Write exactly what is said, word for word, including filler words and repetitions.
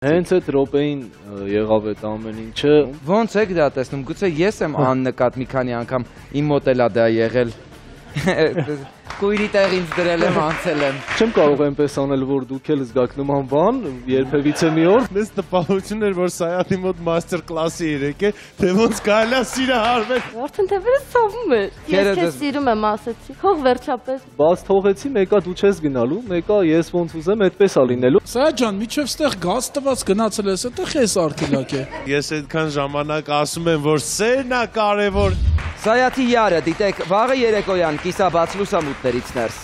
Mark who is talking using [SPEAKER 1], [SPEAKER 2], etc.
[SPEAKER 1] Հենց այդ րոպեին եղավ այդ ամեն ինչը։
[SPEAKER 2] Ոնց եք դա տեսնում, գուցե ես եմ աննկատ մի քանի անգամ իմ մոտ էլ ա դա եղել։ Կույրի տեղ ինձ դրել եմ, անցել եմ։
[SPEAKER 1] Չեմ կարող այնպես անել, որ դուք էլ զգաք նման բան, երբևիցե մի օր։
[SPEAKER 3] Մեզ տպավորություն էր, որ Սայաթի մոտ մաստեր կլասի երեք է, թե ոնց կարելի է սիրահարվել։
[SPEAKER 4] Արդեն թեպերը սովում էր։ Ես քեզ սիրում եմ, ասեցի։ Թող վերջապես։
[SPEAKER 1] Բաց թողեցի, մեկա դու չես գնալու, մեկա ես ոնց ուզեմ, այդպես ա լինելու։
[SPEAKER 5] Սայաթ ջան, միջև ստեղ գազ տված գնացել ես, այդտեղ ես արկելակ է։
[SPEAKER 3] Ես այդքան ժամանակ ասում եմ, որ սերն է կարևոր։
[SPEAKER 2] Սայաթի յարը, դիտեք, վաղը երեկոյան կիսաբաց լուսամուտներից ներս։